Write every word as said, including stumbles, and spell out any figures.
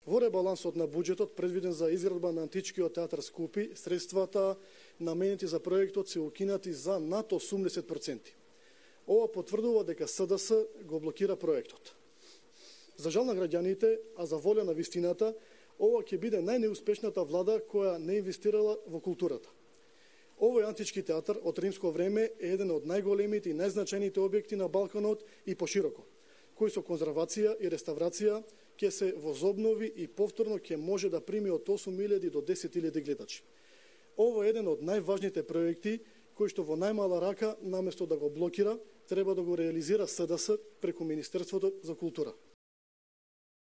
Во ребалансот на буџетот предвиден за изградба на античкиот театар Скупи, средствата наменети за проектот се укинати за над осумдесет проценти. Ова потврдува дека СДС го блокира проектот. За жал на граѓаните, а за воля на вистината, ова ќе биде најнеуспешната влада која не инвестирала во културата. Овој антички театар од римско време е еден од најголемите и најзначајните објекти на Балканот и пошироко, кој со конзервација и реставрација ќе се возобнови и повторно ќе може да прими од осум илјади до десет илјади гледачи. Ова е еден од најважните проекти кој што во најмала рака, наместо да го блокира, треба да го реализира СДС преку Министерството за култура.